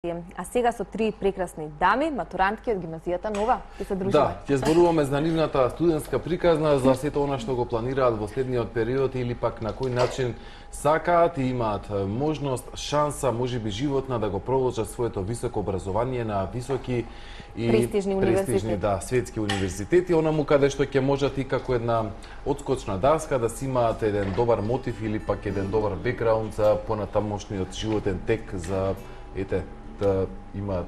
А сега со три прекрасни дами, матурантки од гимназијата Нова, ќе се дружиме. Да, ќе зборуваме за нивната студентска приказна, за сето она што го планираат во следниот период или пак на кој начин сакаат и имаат можност, шанса, можеби животна да го продолжат своето високо образование на високи и престижни да, светски универзитети, онаму каде што ќе можат и како една одскочна даска да си имаат еден добар мотив или пак еден добар бекграунд за понатамошниот животен тек за да имаат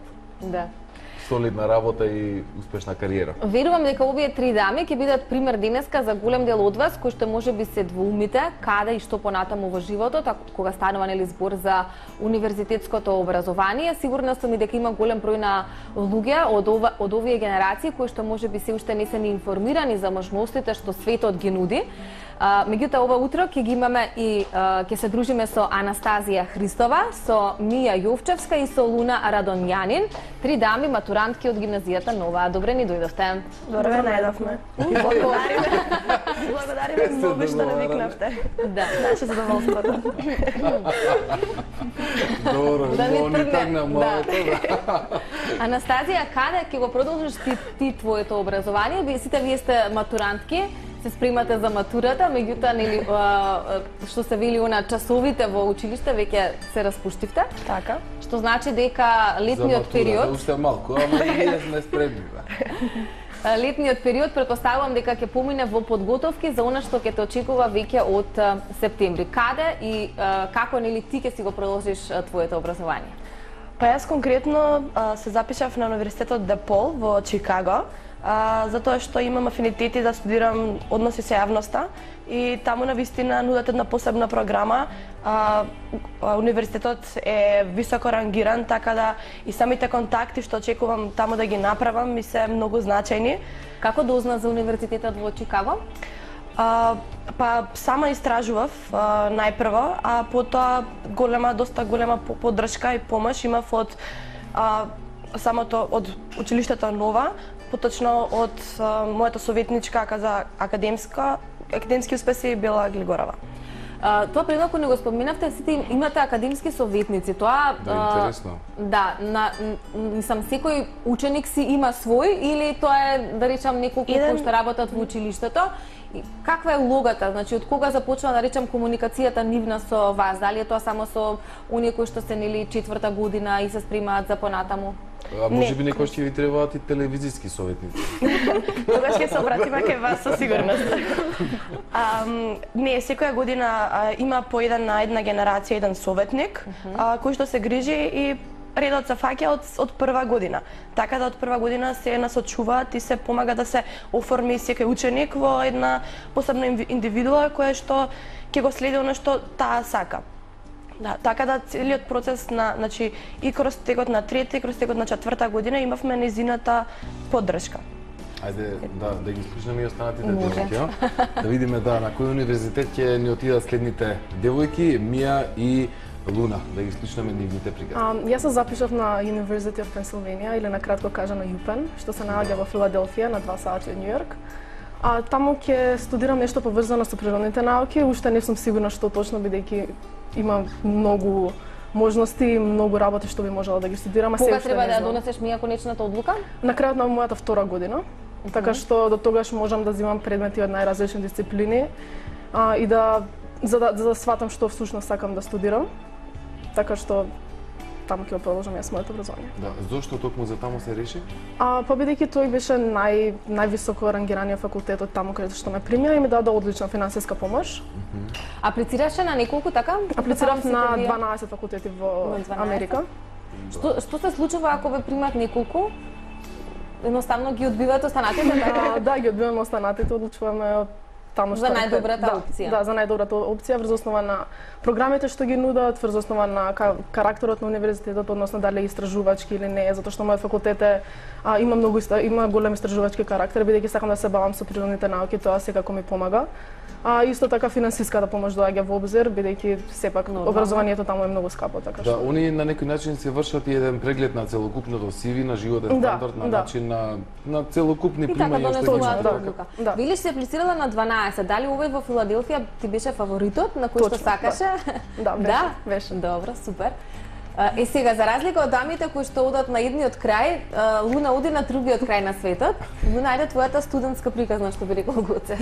солидна работа и успешна кариера. Верувам дека овие три дами ќе бидат пример денеска за голем дел од вас кои што можеби се двоумите каде и што понатаму во животот, кога станува нели збор за универзитетското образование. Сигурна сум и дека има голем број на луѓе од овие генерации кои што можеби се уште не се ни информирани за можностите што светот ги нуди. Меѓутоа ова утро ќе ги имаме и ќе се дружиме со Анастазија Христова, со Мија Јовчевска и со Луна Радонјанин, три дами матурантки од гимназијата Нова. Добре ни дојдовте. Добре најдовме. Благодариме многу што не викнавте. Да, наше задоволството. Добро, ни тагна малку. Анастазија, каде ќе го продолжиш ти твоето образование? Сите вие сте матурантки, се спремате за матурата, меѓутоа нели што се вели на часовите во училиште веќе се распуштивте. Така. Што значи дека летниот период уште малку, ама ние сме спремни. Летниот период претпоставувам дека ќе помине во подготовки за она што ќе те очекува веќе од септември. Каде и како нели ти ќе си го продолжиш твоето образование? Па јас конкретно се запишав на Универзитетот ДеПол во Чикаго. Затоа што имам афинитети да студирам односи со јавноста и таму навистина нудат една посебна програма. Универзитетот е високо рангиран, така да и самите контакти што очекувам таму да ги направам ми се многу значајни. Како дозна за Универзитетот во Чикаго? Па сама истражував најпрво, а потоа доста голема поддршка и помош имав од самото од училиштето Нова, поточно од мојата советничка за академски успеси Бела Глигорова. Тоа предмалку не го споменавте, сите имате академски советници. Тоа интересно. Да, мислам секој ученик си има свој или тоа е да речам неколку кои што работат во училиштето. Каква е улогата? Значи од кога започва да речам комуникацијата нивна со вас? Дали е тоа само со оние кои што се нели четврта година и се спремаат за понатаму? Можеби некој ќе ви требаат и телевизиски советници. Тогаш ќе се обратиме кај вас со сигурност. Не, секоја година има по еден на една генерација еден советник кој што се грижи и редот се фаќа од прва година. Така да од прва година се насочуваат и се помага да се оформи секој ученик во една посебна индивидуа која што ќе го следи она што таа сака. Да, така да целиот процес значи и кроз текот на трета и кроз текот на четврта година имавме незината поддршка. Ајде да ги слушнеме и останатите девојки, да видиме на кој универзитет ќе ни отидат следните девојки, Мија и Луна, да ги слушнеме нивните приказни. Јас се запишав на University of Pennsylvania или на кратко кажано UPenn, што се наоѓа во Филаделфија на 2 сати од Њујорк. Таму ќе студирам нешто поврзано со природните науки, уште не сум сигурна што точно бидејќи има многу можности и многу работи што би можела да ги студирам, а се кога треба да донесеш Мија конечната одлука? На крајот на мојата втора година. Така што до тогаш можам да земам предмети од најразлични дисциплини и за да сватам што всушност сакам да студирам. Така што таму ќе продолжам јас моето образование. Да, зошто токму за таму се реши? Па бидејќи тој беше највисоко рангираниот факултет од таму каде што ме примија и ми даде одлична финансиска помош. Аплицираше на неколку така? Аплицирав на 12 факултети во Америка. Што се случува ако ве примат неколку? Едноставно ги одбивате останатите? Да, ги одбиваме останатите, одлучуваме таму што за најдобрата опција. Да, за најдобрата опција врз основа на програмите што ги нудат, врз основа на карактерот на универзитетот, односно дали е истражувачки или не, затоа што мојот факултет има голем истражувачки карактер, бидејќи сакам да се бавам со природните науки, тоа секако ми помага. Исто така финансиската помош доаѓа во обзир, бидејќи сепак образованието таму е многу скапо, така што. Да, они на некој начин се вршат и еден преглед на целокупното CV, на животен стандард, на начин на целокупни примања што ги има. Вели се аплицирала на 12, дали овој во Филаделфија ти беше фаворитот на кој што сакаше? Да, беше. Добро, супер. Сега, за разлика од дамите кои што одат на едниот крај, Луна оди на другиот крај на светот. Луна, ајде твојата студентска приказна, што би рекол Гоце.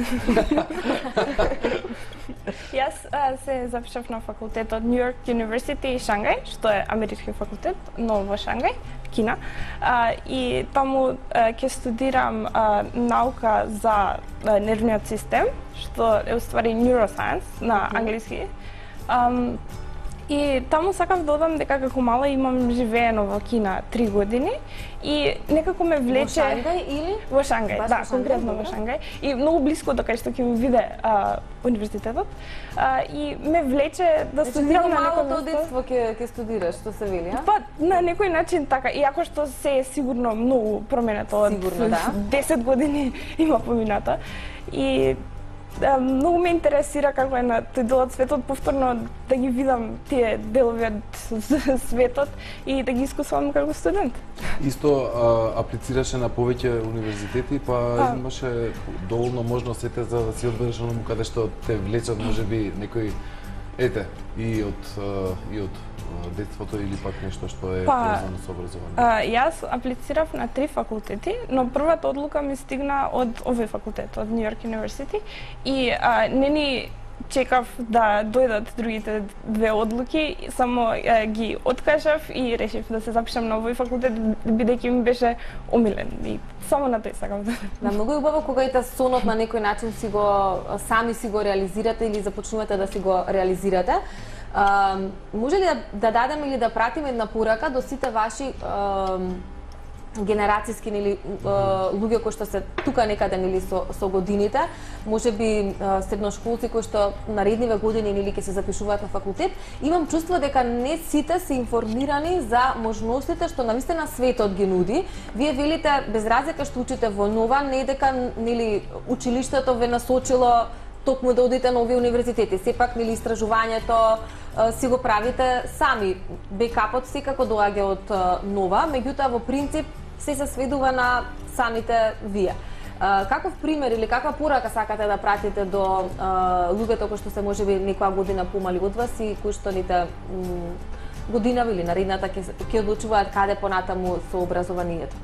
Јас се запишав на факултетот New York University и Шангај, што е амерички факултет, но во Шангај, Кина. И таму ќе студирам наука за нервниот систем, што е уствари neuroscience на англиски. И таму сакав да одам дека како мала имам живеено во Кина 3 години и некако ме влече... Во Шангај или? Во Шангај, да, конкретно во Шангај. И многу блиско до кај што ќе ми биде универзитетот. И ме влече да студирам на некој малото детство ќе студираш, што се вели, а? Па, на некој начин така, иако што се е сигурно многу променето од 10 години има помината. И многу ме интересира како е на тој дел од светот, повторно да ги видам тие делови од светот и да ги искусувам како студент. Исто аплицираше на повеќе универзитети, па имаше доволно можностите за да си одбереш оному каде што те влечат, можеби некој и од детството или пак нешто што е поврзано со образование? Јас аплицирав на 3 факултети, но првата одлука ми стигна од овој факултет, од New York University, и не ни чекав да дојдат другите 2 одлуки, само ги откажав и решив да се запишам на овој факултет, бидејќи ми беше омилен и само на тој сакав да. Да, многу е убаво кога и сонот на некој начин сами си го реализирате или започнувате да си го реализирате. Може ли да дадеме или да пратиме една порака до сите ваши генерацијски или луѓе кои што се тука некаде или со годините, можеби средношколци кои што наредниве години или ќе се запишуваат на факултет, имам чувство дека не сите се информирани за можностите што навистина светот ги нуди. Вие велите без разлика што учите во нова, не дека нели училиштето ве насочило токму да одите на овие универзитети. Сепак нели истражувањето си го правите сами. Бекапот секако доаѓа од нова, меѓутоа во принцип се сведува на самите вие. Каков пример или каква порака сакате да пратите до луѓето кои што се можеби некоја година помали од вас и кои што ните година или наредната ќе одлучуваат каде понатаму со образованието?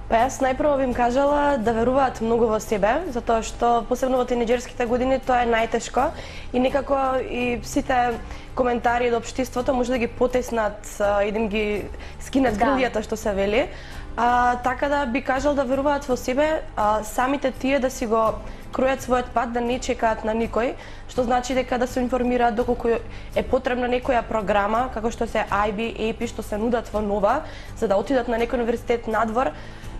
Па јас најпрво би им кажала да веруваат многу во себе, затоа што посебно во тинеџерските години тоа е најтешко и некако и сите коментари од општеството може да ги потеснат и да им ги скинат грилјата што се вели. Така да би кажал да веруваат во себе, самите тие да си го кројат својот пат, да не чекаат на никој, што значи дека да се информираат доколку е потребна некоја програма, како што се IB, AP, што се нудат во нова, за да отидат на некој универзитет надвор.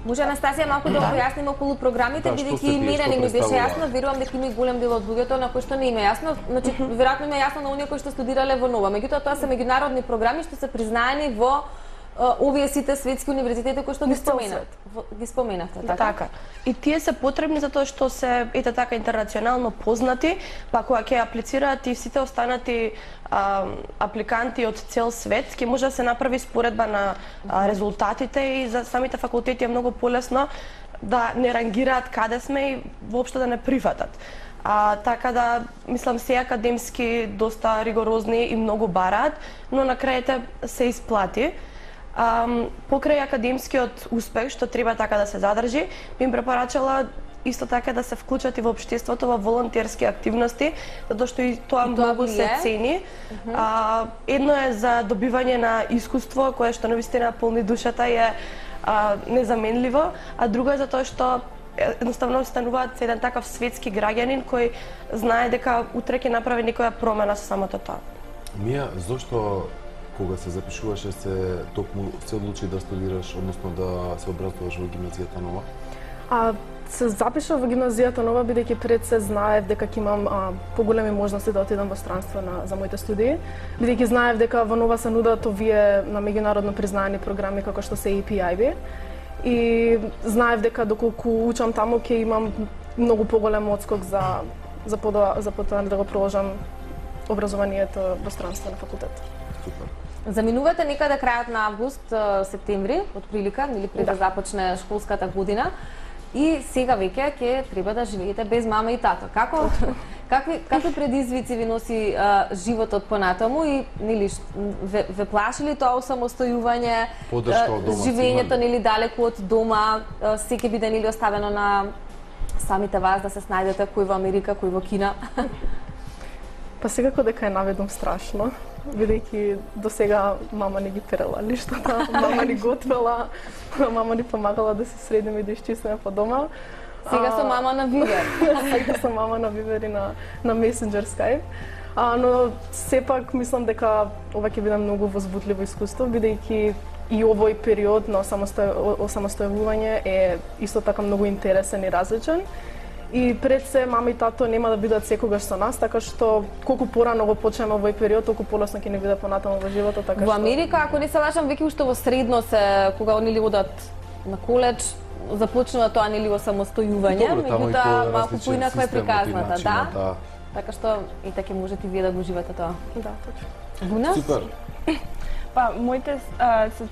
Може Анастасија малку да појасниме околу програмите, бидејќи и мене не ми беше јасно, верувам дека има и голем дел од луѓето на кои што не им е јасно, значи веројатно им е јасно на оние кои што студирале во нова. Меѓутоа тоа се меѓународни програми што се признаени во овие сите светски универзитети кои што ги споменавте, така? И тие се потребни затоа што се така интернационално познати, па кога ќе аплицираат и сите останати апликанти од цел свет, ќе може да се направи споредба на резултатите и за самите факултети е многу полесно да не рангираат каде сме и воопшто да не прифатат. Така да, мислам, се академски доста ригорозни и многу бараат, но на крајите се исплати. Покрај академскиот успех, што треба така да се задржи, би им препорачала исто така да се вклучат и во општеството, во волонтерски активности, затоа што и тоа многу се цени. Едно е за добивање на искуство, кое што навистина полни душата и е незаменливо, а друго е затоа што едноставно стануваат еден такав светски граѓанин кој знае дека утре ќе направи некоја промена со самото тоа. Мија, зошто кога се запишуваше се токму се одлучи да студираш, односно да се образуваш во гимназијата нова? Се запишав во гимназијата нова бидејќи пред се знаев дека ќе имам поголеми можности да отидам во странство за моите студии, бидејќи знаев дека во нова се нудат овие на меѓународно признаени програми како што се AP, IB. И знаев дека доколку учам таму ќе имам многу поголем одскок за потоа да го продолжам образованието во странство на факултет. Супер. Заминувате некаде крајот на август, септември, отприлика, или пред да започне школската година. И сега веќе ќе треба да живеете без мама и тато. Какви предизвици ви носи животот понатаму и нели ве плаши ли тоа осамостојување, Поддршка од дома, живењето нели далеку од дома, се ќе биде нели оставено на самите вас да се снајдете кој во Америка, кој во Кина? Па секако дека е наведом страшно, бидејќи до сега мама не ги перела лиштата, мама ни готвела, мама ни помагала да се средиме и да исчистиме по дома. Сега со мама на Вивер. Сега со мама на Вивер и на Messenger Skype. Но сепак мислам дека ова ќе биде многу возбудливо искуство, бидејќи и овој период на осамостојување е исто така многу интересен и различен. И пред се мама и тато нема да бидат секогаш со нас, така што колку порано го почнеме овој период, толку полесно ќе ни биде понатаму во животот, така што Во Америка, ако не се лажам, веќе уште во средно се кога нели одат на коледж, започнува тоа нели осамостојување, меѓутоа малку поинаква е приказната, да. Така што и така можете вие да го живеете тоа. Да, точно. Гуна? Супер. Па, моите се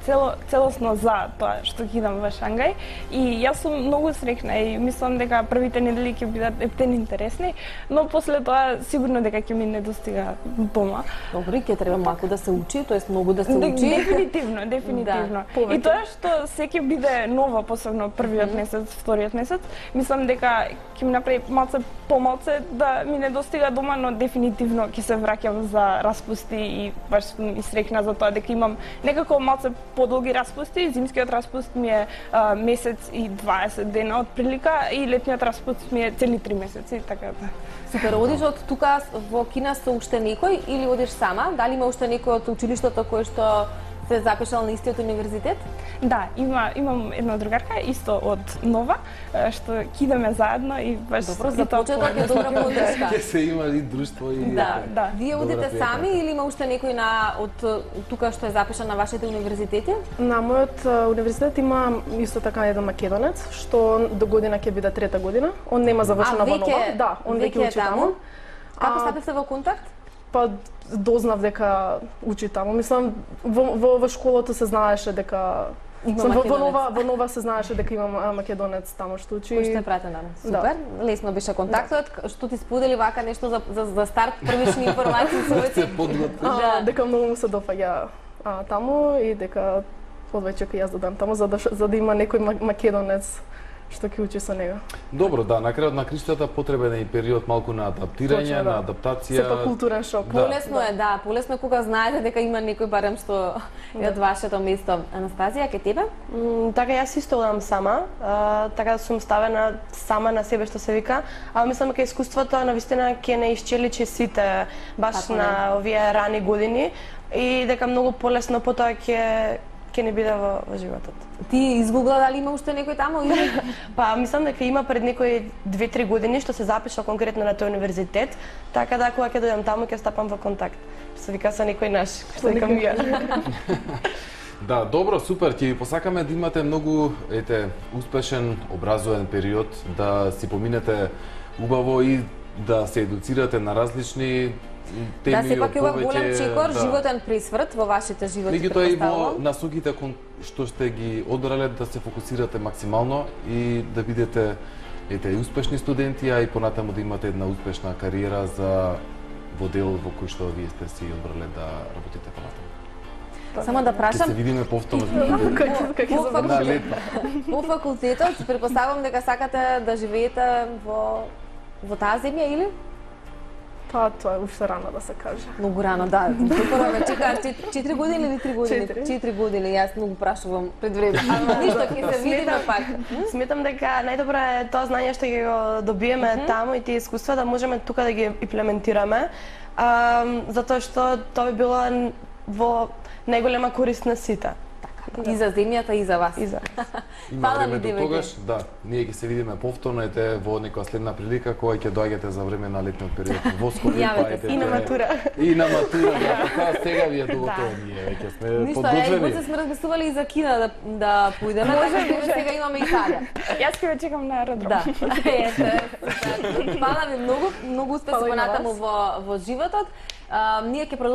целосно за тоа што ќе идам во Шангај и јас сум многу среќна и мислам дека првите недели ќе бидат ептен интересни, но после тоа сигурно дека ќе ми недостига дома. Добро, ќе треба малку да се учи, тоест многу да се учи. Дефинитивно, дефинитивно. И тоа што се ќе биде ново, посебно првиот месец, вториот месец, мислам дека ќе ми направи малце помалце да ми недостига дома, но дефинитивно ќе се враќам за распусти и баш сум и среќна за тоа дека имам некако малце подолги распусти. Зимскиот распуст ми е месец и 20 дена од прилика и летниот распуст ми е цели 3 месеци, така да. Супер, одиш од тука во Кина со уште некој или одиш сама? Дали има уште некој од училиштето кој што се запишал на истиот универзитет? Да, имам една другарка исто од Нова, што ќе идеме заедно и баш Добро, за почеток е добра поддршка. Ќе се има и друштво и Да. Вие одите сами или има уште некој од тука што е запишан на вашите универзитети? На мојот универзитет има исто така еден македонец, што до година ќе биде трета година. Он нема завршена во Нова. Да, он веќе учи таму. Како стапивте во контакт? Па дознав дека учи таму. Мислам во школата се знаеше дека во Нова се знаеше дека имам македонец таму што учи. Кој што е пратен таму. Супер. Лесно беше контактот. Што ти сподели вака нешто за старт, првични информации со дека многу му се допаѓа таму и дека одвеќе ќе јас додам таму за да има некој македонец што ќе учи со него. Добро, да, на крајот на криштата потребен е и период малку на адаптирање, Точно, на адаптација. Сепак културен шок. Полесно е, да, полесно кога знаете дека има некој барем што е од вашето место. Анастазија, ке тебе? Така јас исто одам сама, така да сум ставена сама на себе што се вика, а мислам дека искуството навистина ќе не исчеличи сите баш на овие рани години и дека многу полесно потоа ќе не биде во животот. Ти изгугла дали има уште некој таму или? Па мислам дека има пред некои 2-3 години што се запишал конкретно на тој универзитет, така да кога ќе дојдам таму ќе стапам во контакт. Што вика со некој наш, што вика ми. Да, добро, супер, ќе ви посакаме да имате многу успешен образовен период, да си поминете убаво и да се едуцирате на различни теми. Да, сепак има голем чекор, животен присврт во вашите животи. Меѓутоа и во насоките што сте ги одбрале да се фокусирате максимално и да бидете успешни студенти, а и понатаму да имате една успешна кариера во дел во кој што вие сте си одбрале да работите понатаму. Само да прашам. Ќе се видиме повторно По факултетот, претпоставувам дека сакате да живеете во таа земја или? Па тоа е уште рано да се каже. Многу рано, да. Прво ме чекаат 4 години или 3 години? 4 години, јас многу прашувам пред време. Ништо, ќе се видиме пак. Сметам дека најдобро е тоа знање што ќе го добиеме таму и тие искуства да можеме тука да ги имплементираме, затоа што тоа би било во најголема корист на сите. И за земјата, и за вас. Има време до тогаш, да. Ние ќе се видиме повторно во некоја следна прилика кога ќе доаѓате за време на летниот период во Скопје, и на матура. И на матура, да, така сега ви е готово, ние веќе сме подготвени. Ништо, сме размислували и за Кина да поидеме, така сега имаме Италија. Јас ќе ве чекам на аеродром. Да. Фала ви многу успех понатаму во животот. Ние ќе